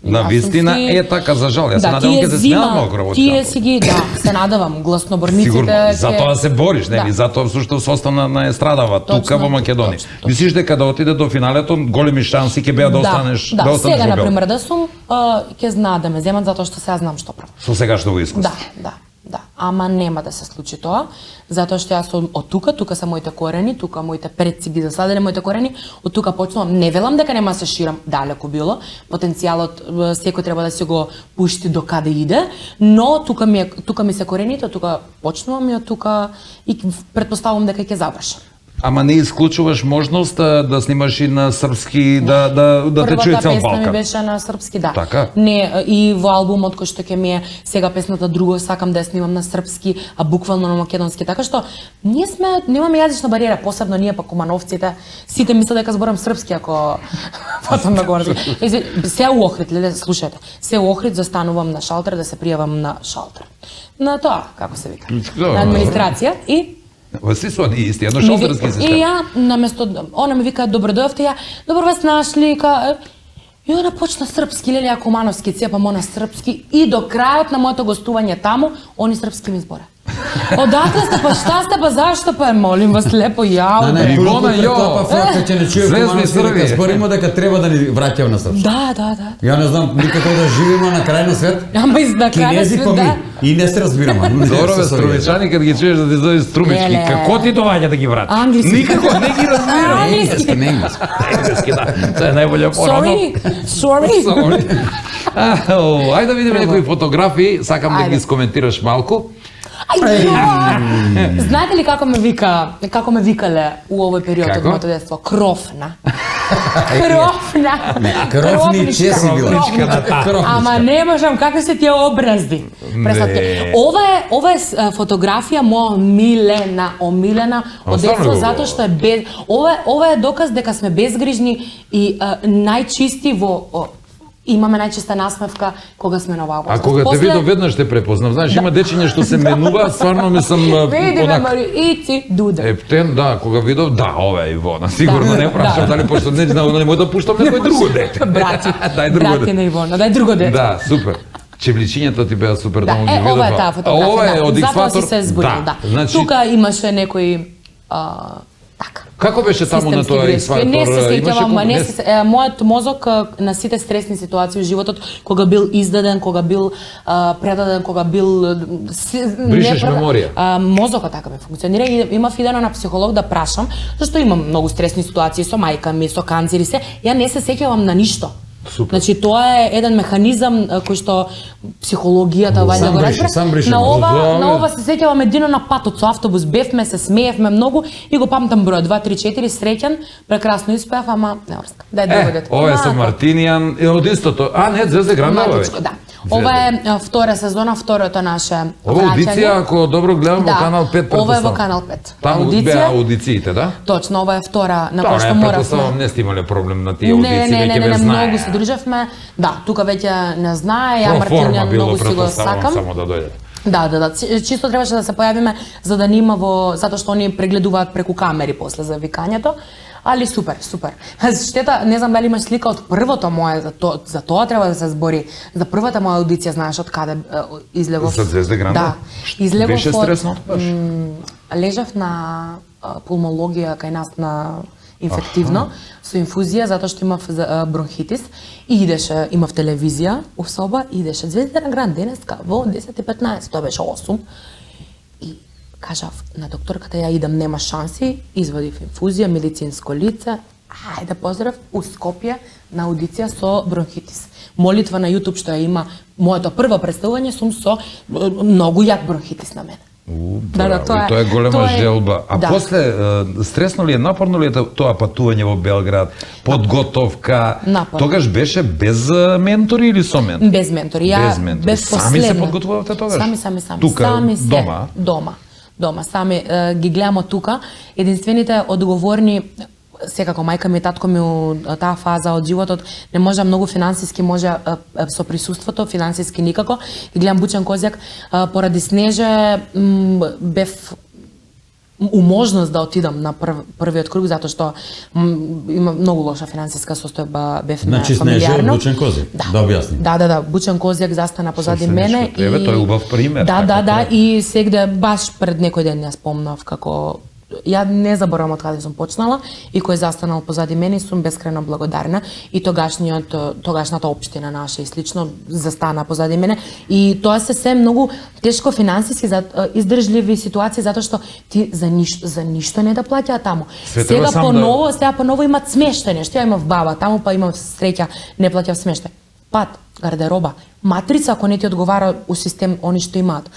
S1: на вистина е така, за жал. Јас се надевам ќе се смеат малку работи.
S3: Тие си ги, се надевам, гласноборниците.
S1: Сигурно, затоа се бориш, нели? Затоа всушто се остана на естрадава тука во Македонија. Мислиш дека да отиде до финалето, големи шанси ќе беа да останеш во Белград?
S3: Сега на пример да сум, ќе знаат да ме земат затоа што сега знам што правам.
S1: Со сегашното искуство.
S3: Да. Ама нема да се случи тоа, затоа што јас сум од тука се моите корени, тука моите предци ги засадиле моите корени, од тука почнувам. Не велам дека нема да се ширам, далеку било, потенцијалот секој треба да се го пушти до каде иде, но тука ми се корените, тука почнувам и од тука и претпоставувам дека ќе завршам.
S1: Ама не исклучуваш можност да снимаш и на српски, да те чуе цел Балкан?
S3: Првата песна ми беше на српски, да.
S1: Така?
S3: Не, и во албумот кој што ќе ми е сега песната друго, сакам да ја снимам на српски, а буквално на македонски, така што немаме јазична бариера, посебно ние па кумановците, сите мислат дека зборам српски ако потом на горски. Се у Охрид, слушајте, се у Охрид застанувам на шалтер да се пријавам на шалтер. На тоа, како се вика, на администрација и
S1: Си со они исти, едно шалтерски систем.
S3: И ја, наместо, она ми вика, добро дојавте, ја, добро вас нашли, и она почна српски, Лелија Кумановски, цепам она српски, и до крајот на моето гостување таму, они српски ми збора. Одакле сте, па шта сте, па зашто, па молим вас лепо, јао.
S4: Ивона, ја, факта че не чуе Кумановски, дека збориме дека треба да ни враќаат на српски.
S3: Да.
S4: Ја не знам, никако да живееме на крај на свет.
S3: Ама и на крај на свет, да.
S4: И не се разбираме.
S1: Добро бе, струмичани, кога ги чуеш да ти дојде струмички, како ти доаѓа да ги врати?
S3: Англиски.
S1: Никако не ги разбирам.
S4: Енглески.
S1: Енглески, да. Тоа е најбоља порано.
S3: Sorry.
S1: Ајде да видиме некои фотографии, сакам да ги скоментираш малку.
S3: Знаете ли како ме викале у овој период од моето детство? Крофна.
S4: Кровниче си била.
S3: Ама не можам, какви се тие образди. Ова е фотографија моја омилена од детство, затоа што е ова е доказ дека сме безгрижни и најчисти во имаме најчиста насмевка кога сме на оваа возраст.
S1: А кога те видов веднаш те препознав. Знаеш, има дечиња што се менува, стварно ми сам
S3: Види ме, Мари, ици, Дуда.
S1: Ептен, да, кога видов, да, ова е Ивона. Сигурно не прашам дали пошто не знам, не може да пуштам некој друго дете.
S3: Брати на Ивона, дај друго дете.
S1: Да, супер. Чевличињата ти беа супер, да ги видов.
S3: Ова е таа фотографија.
S1: Ова е од
S3: Затоа си се зборил, да. Тука имаше некои така.
S1: Како беше таму на тоа X-Factor?
S3: Не се сеќавам, мојот мозок на сите стресни ситуации во животот, кога бил издаден, кога бил предаден, кога бил
S1: бришеш меморија.
S3: Мозокот така ме функционира и имав идено на психолог да прашам, зашто имам многу стресни ситуации со мајка ми, со канцер и се, ја не се сеќавам на ништо.
S1: Супер.
S3: Значи тоа е еден механизам кој што психологијата вајде го разбира. На ова се сеќавам едино на патот со автобус, бевме, се смеевме многу и го памтам број 2 3 4 среќен, прекрасно испеав, ама не орска. Дај да бидете.
S1: Ова е со Мартинијан и од истото. Не, Звезда Грандова.
S3: Да. Ова е втора сезона, второто наше
S1: Ова аудиција, ако добро гледам, во Канал 5 предпоставам.
S3: Ова е во Канал 5.
S1: Таму беа аудициите, да?
S3: Точно, ова е втора на која што моравме.
S1: Не сте имале проблем на тие аудиции, веќе ве знае.
S3: Многу се дружевме. Да, тука веќе не знае, ја Мартинијан многу си го сакам.
S1: Само да дојде.
S3: Да, чисто требаше да се појавиме за да нема затоа што они прегледуваат преку камери после за викањето. Али супер. Штета, не знам дали имаш слика од првото мое, за тоа треба да се збори. За првата моја аудиција, знаеш од каде излегов?
S1: За Звезда Гранда?
S3: Да. Излегов
S1: беше стресно баш?
S3: Лежав на пулмологија кај нас на инфективно, со инфузија, затоа што имав бронхитис и имав телевизија у соба, идеше Звезда Гранд денеска во 10:15, тоа беше 8. И кажав на докторката, ја идам, нема шанси, извадив инфузија, медицинско лице, ајде поздрав, у Скопје на аудиција со бронхитис. Молитва на YouTube што ја има, моето прво представување сум со многу јак бронхитис на мене.
S1: Тоа е голема желба. А после, стресно ли е, напорно ли е тоа патување во Белград, подготовка? Тогаш беше без ментори или со ментори?
S3: Без ментори. Без
S1: сами се подготвувавте тогаш?
S3: Сами.
S1: Тука,
S3: дома. Сами ги гледам од тука. Единствените одговорни, секако мајка ми и татко ми у таа фаза од животот не може многу финансиски, може со присуството, финансиски никако. И гледам Бучен Козјак, поради Снеже бев у можност да отидам на првиот круг, затоа што има многу лоша финансиска состојба, бевме
S4: фамилиарно. Значи Снеже е Бучен Козјак, да објасни.
S3: Да, Бучен Козјак застана позади мене.
S1: Тој е убав пример.
S3: Да, и сегде баш пред некој ден ја спомнав како ја не заборавам од каде сум почнала и кој застанал позади мене, сум бескрајно благодарна и тогашната општина наша и слично застана позади мене и тоа се многу тешко финансиски издржливи ситуации затоа што ти за ништо не да плаќаат таму. Сега поново имат смештај, нешто. Ја имав баба таму, па имам среќа, не плаќав смештај. Пат, гардероба, матрица ако не ти одговара у систем они што имаат.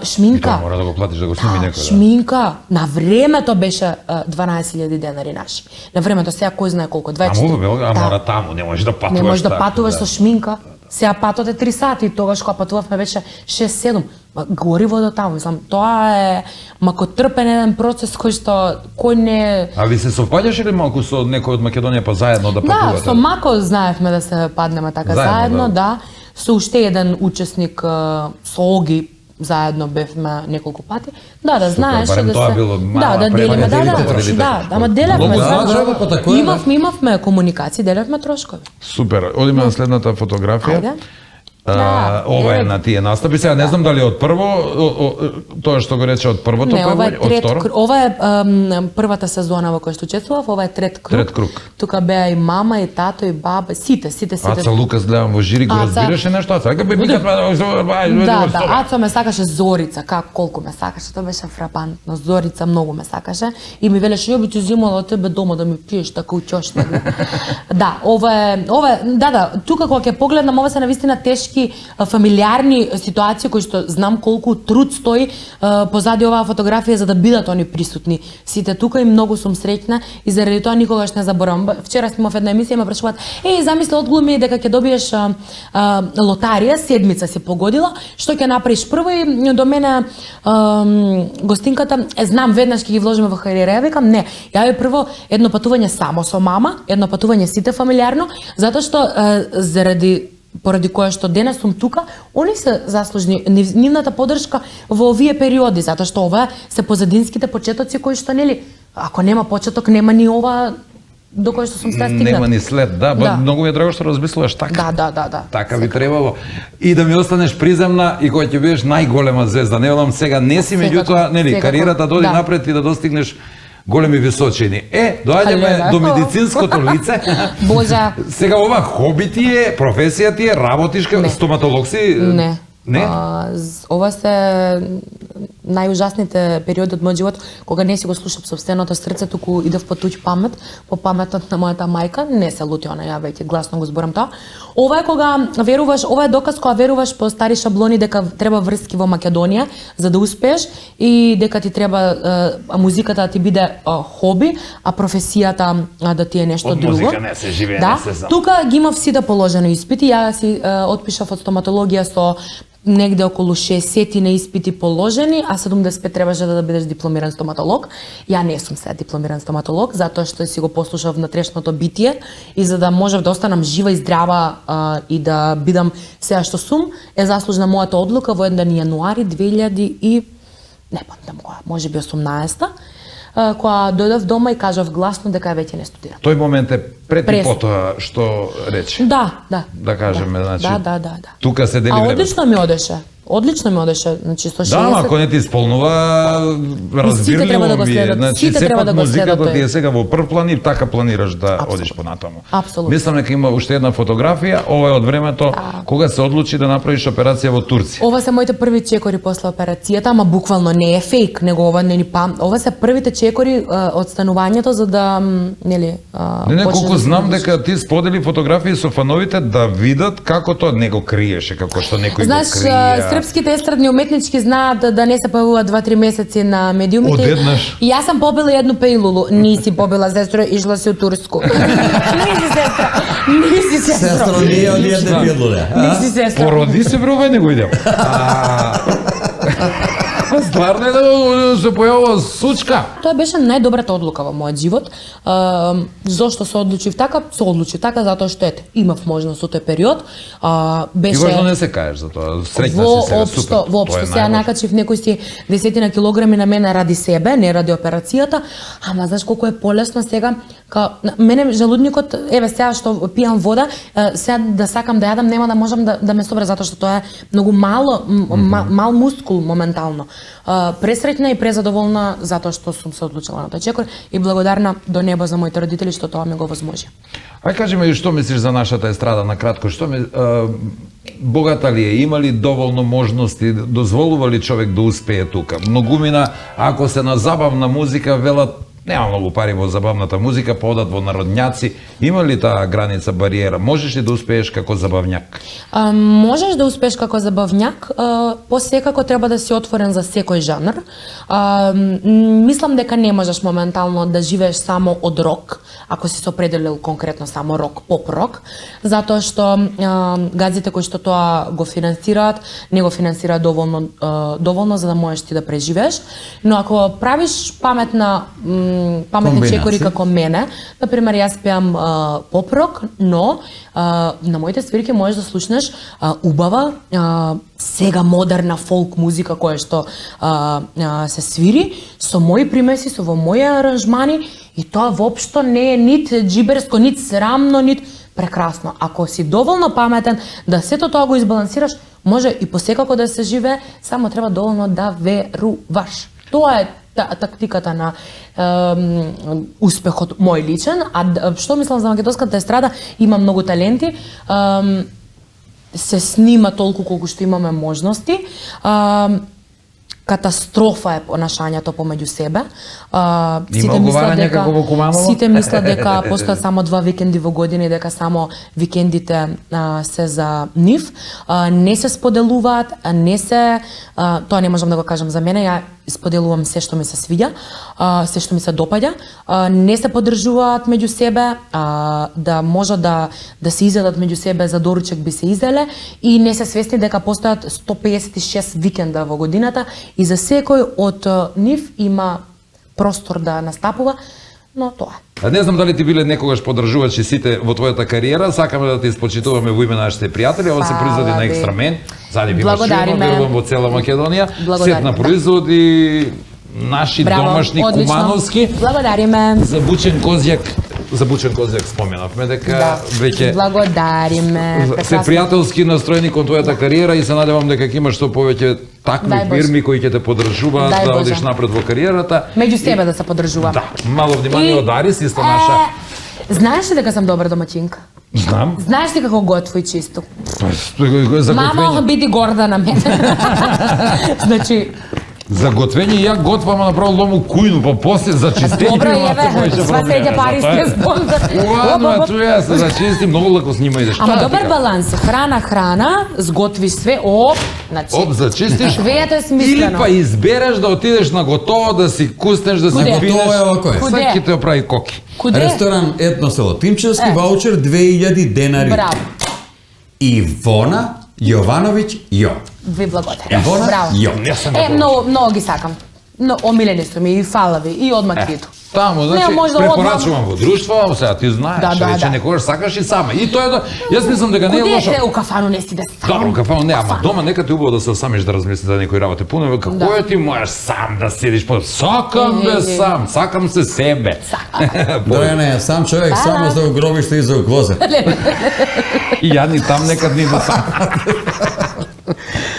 S3: Шминка.
S1: Мора да го платиш да го сними некој.
S3: Шминка. На времето беше 12.000 денари наши. На времето сега кој знае колку, 24.
S1: Мора таму, не можеш да патуваш.
S3: Не можеш да патуваш со шминка. Сега патот е 3 сати, тогаш кога патувавме беше 6-7. Гориво до таму, мислам, тоа е макотрпен еден процес кој не...
S1: А ви се совпаѓаше ли малку со некој од Македонија па заедно да патувате?
S3: Да, со Мако знаевме да се паднеме така заедно, да. Со уште еден учесник со Оги заедно бевме неколку пати. Да, знаеш
S1: да
S3: се... Да, делиме, ама делевме, имавме комуникација, делевме трошкови.
S1: Супер, одиме на следната фотографија. Ова е на тие настапи. Сега не знам дали од прво, тоа што го рече од првото, од второ?
S3: Ова е првата сезона во која што учествував, ова е трет круг. Тука беа и мама, и тато, и баба, сите.
S1: Аца Лукас гледам во жири, го разбираше нешто, Аца?
S3: Да, Аца ме сакаше, Зорица, колку ме сакаше, тоа беше фрапантно. Зорица многу ме сакаше и ми велеше, ја би ти земала од тебе дома да ми пиеш така учошна. Да, ова е, тука кога ќе погледнам, ова се навистина тешки фамилиарни ситуации кои што знам колку труд стои позади оваа фотографија за да бидат они присутни сите тука и многу сум среќна и заради тоа никогаш не заборавам. Вчера снимав една емисија и ме прашуваат: замисли одглуми дека ќе добиеш лотарија, седмица си погодила, што ќе направиш прво? И до мене гостинката, знам веднаш ќе ги вложиме во кариера, викам не, ја прво едно патување само со мама, едно патување сите фамилиарно, затоа што поради која што денес сум тука, они се заслужни нивната поддршка во овие периоди, затоа што ова се позадинските почетоци кои што нели, ако нема почеток, нема ни ова до кој што сум сега стигнат.
S1: Нема ни след, да, многу ми е драго што размислуваш така.
S3: Да.
S1: Така би требало. И да ми останеш приземна и кога ќе бидеш најголема звезда, не велам сега не си, меѓутоа, нели, кариерата доди напред и да достигнеш големи височини. Доаѓаме до медицинското лице.
S3: Божа.
S1: Сега ова хоби ти е, професија ти е, работиш како стоматолог си?
S3: Не.
S1: Не?
S3: Ова се најужасните периоди од мојот живот, кога не си го слушав сопственото срце, туку идев по туѓ памет, по паметот на мојата мајка, не се лути она, ја веќе гласно го зборам тоа. Ова е кога веруваш, ова е доказ кога веруваш по стари шаблони дека треба врски во Македонија за да успееш и дека ти треба музиката да ти биде хоби, а професијата да ти е нешто друго.
S1: Од музика не се живее,
S3: да,
S1: не се знам.
S3: Тука ги имав сите положени испити, ја си отпишав од стоматологија со негде околу 60 на испити положени, а 75 требаше да бидеш дипломиран стоматолог. Ја не сум сега дипломиран стоматолог, затоа што си го послушав внатрешното битие и за да можев да останам жива и здрава и да бидам сега што сум, е заслужна мојата одлука во еден јануари 2000 и не памтам која, можеби 18-та, кога дојдов дома и кажав гласно дека веќе не студирам.
S1: Тој момент е пред и потоа што рече.
S3: Да.
S1: Да кажеме, значи.
S3: Да.
S1: Тука се дели време.
S3: А одлично ми одеше. Одлично ми одеше, значи со 60.
S1: Да, ако не ти исполнува, разбирливо ми е. Значи сепак музиката ти е сега во прв план и така планираш да одиш понатаму.
S3: Апсолутно.
S1: Мислам дека има уште една фотографија, ова е од времето кога се одлучи да направиш операција во Турција.
S3: Ова се моите први чекори после операцијата, ама буквално не е фейк, него ова не ни ова се првите чекори од станувањето за да нели
S1: Не, колку знам дека ти сподели фотографии со фановите да видат како тоа не го криеше, како што некој го крие.
S3: Српските естрадни уметнички знаат да не се појавуваат 2-3 месеци на медиумите.
S1: Одеднаш.
S3: И јас сам побила едну пејлулу. Ниси побила, сестро, ишла си у Турску. Ниси сестро.
S4: Сестро, ние од едне пејлуле.
S3: Ниси сестро.
S1: Породи се број, не го идем. Стварно е да се појавува сучка.
S3: Тоа беше најдобрата одлука во мојот живот. Зошто се одлучив така? Се одлучив така затоа што ете, имав можност со тој период. Беше
S1: И важно не се кажеш за тоа. Среќна си сега, супер.
S3: Воопшто сега накачив некој си десетина килограми на мене ради себе, не ради операцијата, ама знаеш колку е полесно сега, мене желудникот, еве сега што пијам вода, сега да сакам да јадам нема да можам да ме собере затоа што тоа е многу мал мускул моментално. Пресреќна и презадоволна затоа што сум се одлучила на тој чекор и благодарна до небо за моите родители што тоа ми го возможи.
S1: Ај кажи ми што мислиш за нашата естрада на кратко, што богата ли е, има ли доволно можности, дозволува ли човек да успее тука? Многумина, ако се на забавна музика, велат нема многу пари во забавната музика, подат во народњаци. Има ли таа граница, бариера? Можеш ли да успееш како забавњак?
S3: Можеш да успееш како забавњак, посекако треба да си отворен за секој жанр. Мислам дека не можеш моментално да живееш само од рок, ако си се определил конкретно само рок, поп-рок, затоа што газите кои што тоа го финансираат, не го финансираат доволно за да можеш ти да преживееш. Но ако правиш паметни чекори како мене, например, јас пеам поп-рок, но на моите свирки можеш да слушнеш убава, сега модерна фолк музика која што се свири, со мои примеси, со во мои аранжмани, и тоа воопшто не е нит джиберско, нит срамно, нит прекрасно. Ако си доволно паметен да сето тоа го избалансираш, може и посекако да се живее, само треба доволно да веруваш. Тоа е тактиката на успехот мој личен. А што мислам за македонската естрада, има многу таленти, се снима толку колку што имаме можности. Катастрофа е понашањето помеѓу себе. Сите мислат дека постојат само 2 викенди во година и дека само викендите се за нив. Не се споделуваат, тоа не можам да го кажам за мене, ја споделувам се што ми се свиѓа, се што ми се допаѓа, не се поддржуваат меѓу себе, да можат да се изедат меѓу себе, за доручек би се изеле и не се свесни дека постојат 156 викенда во годината и за секој од нив има простор да настапува, но тоа.
S1: Не знам дали ти биле некогаш поддржувачи сите во твојата кариера, сакаме да те испочитуваме во име на нашите пријатели, ова се производи на Екстрамен, задиви машина, верувам во цела Македонија, сет на производи, наши домашни, кумановски.
S3: Благодариме.
S1: За бучен козјак споменавме дека веќе
S3: благодариме.
S1: Се пријателски настроени кон твојата кариера и се надевам дека ќе имаш што повеќе такви фирми кои ќе те поддржуваат да одиш напред во кариерата.
S3: Меѓу себе да се поддржуваме.
S1: Да, мало внимание од Арис, исто наша.
S3: Знаеш ли дека сам добра домаќинка?
S1: Знам.
S3: Знаеш ли како готво и чисто?
S1: Мама
S3: биди горда на мене. Значи,
S1: За готвење ја готвам направо лому кујну, па после за чистење.
S3: Добро, еве, сва среќа пари сте спонзор.
S1: Ладно, чу ја се зачистим, многу леко с нима идеш.
S3: Ама добар баланс, храна, сготвиш све, значи.
S1: Зачистиш.
S3: Веето е смислено.
S1: Или па избереш да отидеш на готово, да си куснеш, да си пинеш.
S4: Готово е овако е.
S1: Всеки те оправи коки.
S3: Куде?
S4: Ресторан Етно село Тимчевски, ваучер 2000 денари.
S3: Браво.
S4: Ивона Јовановиќ Јо.
S3: Ви благодарам.
S4: Ивона
S3: Браво.
S4: Јо.
S3: Многу ги сакам. Но омилени сте ми и фалави и одма квиту.
S1: Таму, значи, препорачувам во друштво, сега ти знаеш, рече некогаш сакаш и сама. И тоа е јас мислам дека не е лошо.
S3: Куде у кафану не си да сам?
S1: Добро, у кафану не, ама дома нека ти убаво да се самиш да размислиш за некои работи. Пуно, како е ти можеш сам да седиш по... Сакам бе сам, сакам се себе.
S4: Дојане, сам човек, само за гробиште и за глозет.
S1: И ја ни там некад ни да сам.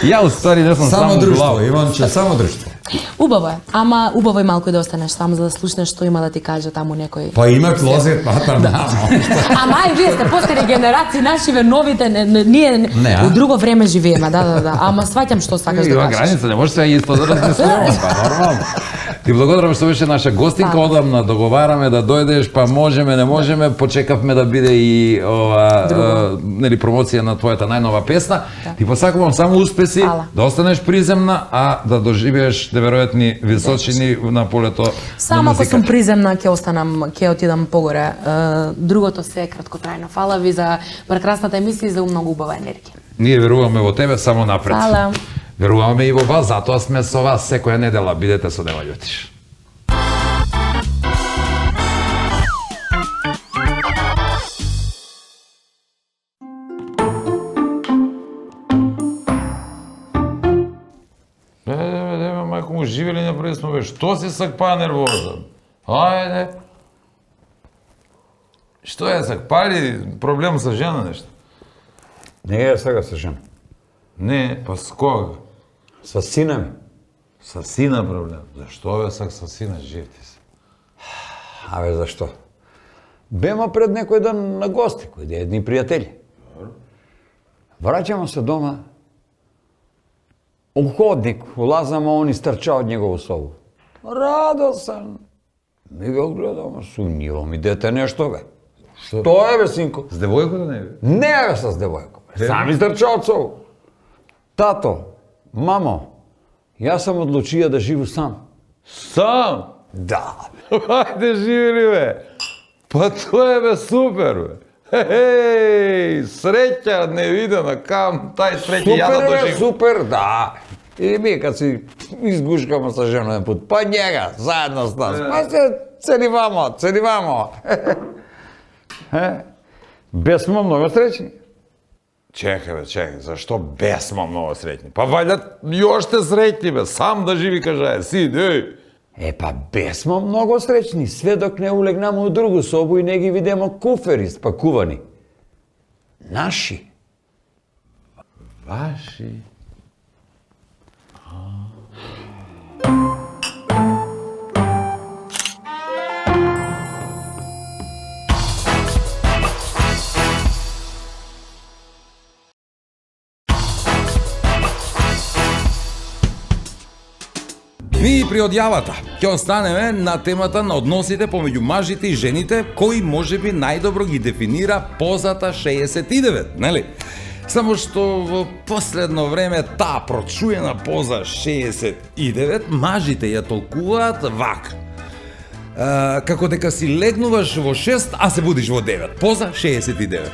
S1: Ја уствари не сум само
S4: друштво, Иванче, само друштво.
S3: Убаво е, ама убаво е малку да останеш само за да слушнеш што има да ти каже таму некој.
S4: Па има клозет, да.
S3: Ама и вие сте постари генерации, нашиве новите, ние у друго време живееме, да. Ама сваќам што сакаш да кажеш.
S1: Граница не може се исто да размислуваме, па нормално. Ти благодарам што беше наша гостинка, одамна договараме да дојдеш, па можеме, не можеме, почекавме да биде и нели промоција на твојата најнова песна. Ти посакувам само успеси, да останеш приземна, а да доживееш неверојатни височини на полето на музиката.
S3: Само ако сум приземна, ќе останам, ќе отидам погоре. Другото се е краткотрајно. Фала ви за прекрасната емисија и за многу убава енергија.
S1: Ние веруваме во тебе, само напред.
S3: Фала.
S1: Веруваме и во вас, затоа сме со вас секоја недела. Бидете со Нема Љутиш. Мајко му живе ли направи сме, бе, што си сакпа нервоза? Ајде. Што е сакпали проблем со жена нешто?
S7: Не е сега со жена.
S1: Не, па с кога?
S7: Со сина ми.
S1: Со сина проблем. Зашто бе сак со сина, жив ти се?
S7: Абе, зашто? Бема пред некој ден на гости, кои едни пријатели. Враќамо се дома, у ходник, улазам, а он истрча од негову собу. Радосан. Ми го гледам, сумнjivo ми дете нешто, бе. Што е, бе, синко?
S1: С девојко да не бе?
S7: Не, бе, с девојко. Сам истрча од собу. Тато, мамо, јас сам одлучија да живу сам.
S1: Сам?
S7: Да.
S1: Ајде, живи ли, бе? Па тоа е, бе, супер, бе. Хеј, среќа невидена, кам тај среќа ја да доживам.
S7: Супер, да. И ми кад си изгушкаме со жена еден пут, па njega, заедно с нас, па се целивамо. Бесмо многу среќни.
S1: Чекај, бе, чекај, зашто бесмо многу среќни? Па вајда још те среќни, бе, сам да живи, кажај, си, деј.
S7: Па бесмо многу среќни, све док не улегнаме у другу собу и не ги видимо куфери спакувани. Наши.
S1: Ваши. Ми при одјавата ќе останеме на темата на односите помеѓу мажите и жените, кои можеби најдобро ги дефинира позата 69, нели? Само што во последно време таа прочуена поза 69 мажите ја толкуваат вака. Како дека си легнуваш во 6, а се будиш во 9. Поза 69.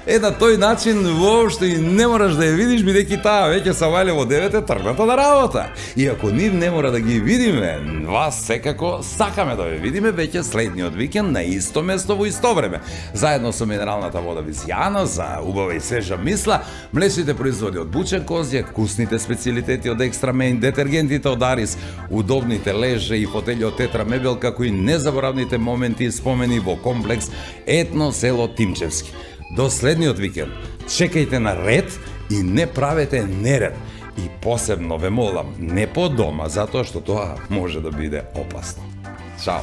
S1: На тој начин воопшто и не мораш да ја видиш, бидејќи таа веќе се вале во 9 тргната на работа. И ако нив не мора да ги видиме, вас секако сакаме да ве видиме веќе следниот викенд на исто место во исто време. Заедно со минералната вода Визијана за убава и свежа мисла, млечните производи од Бучен Козјак, вкусните специјалитети од Екстра Мейн, детергентите од Арис, удобните леже и фотели од Тетра Мебел, како и незаборавните моменти и спомени во комплекс Етно село Тимчевски. До следниот викенд, чекајте на ред и не правете неред. И посебно ве молам, не по дома, затоа што тоа може да биде опасно. Чао!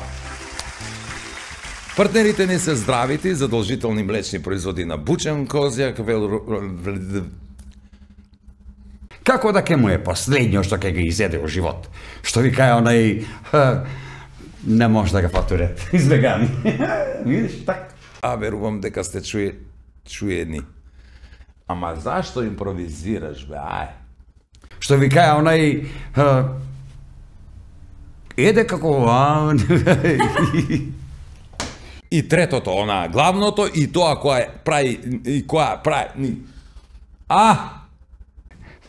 S1: Партнерите ни се здравите и задолжителни млечни производи на Бучен Козјак,
S5: Како да ке му е последниот што ке го изеде во живот. Што ви каја онај... не може да го фатурет. Избегани. Видиш, так.
S1: Верувам дека сте чуени. Ама зашто импровизираш, бе, ај?
S5: Што ви каја онај... еде како...
S1: И третото, она главното, и тоа која прави... и која прави...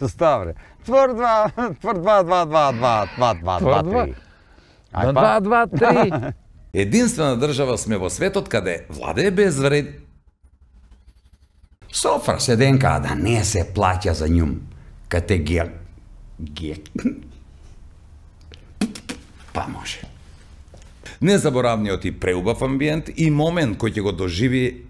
S7: Ставре. Твор 2, 3.
S6: 2, 3.
S1: Единствена држава сме во светот каде владее безвред.
S5: Софра седенка да не се плаќа за њум. Кате па може.
S1: Незаборавниот и преубав амбиент и момент кој ќе го доживи